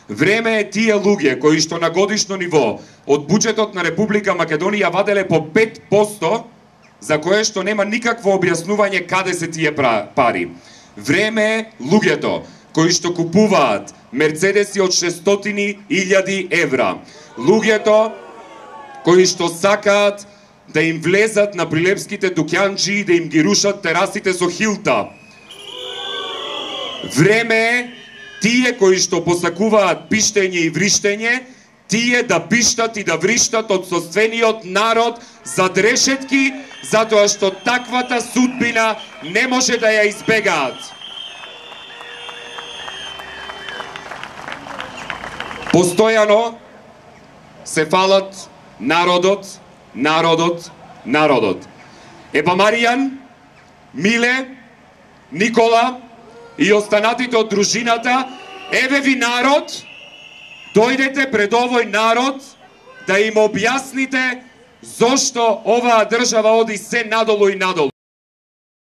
Време е тие луѓе кои што на годишно ниво од буџетот на Република Македонија ваделе по 5%, за кое што нема никакво објаснување каде се тие пари. Време е луѓето кои што купуваат мерцедеси од 600.000 евра, луѓето кои што сакаат да им влезат на прилепските дуќанџи и да им ги рушат терасите со хилта. Време е тие кои што посакуваат пиштење и вриштење, тие да пиштат и да вриштат од собствениот народ зад решетки, затоа што таквата судбина не може да ја избегаат. Постојано се фалат народот, народот, народот. Еба Маријан, Миле, Никола и останатите од дружината, еве ви народ, дојдете пред овој народ да им објасните зошто оваа држава оди се надолу и надолу.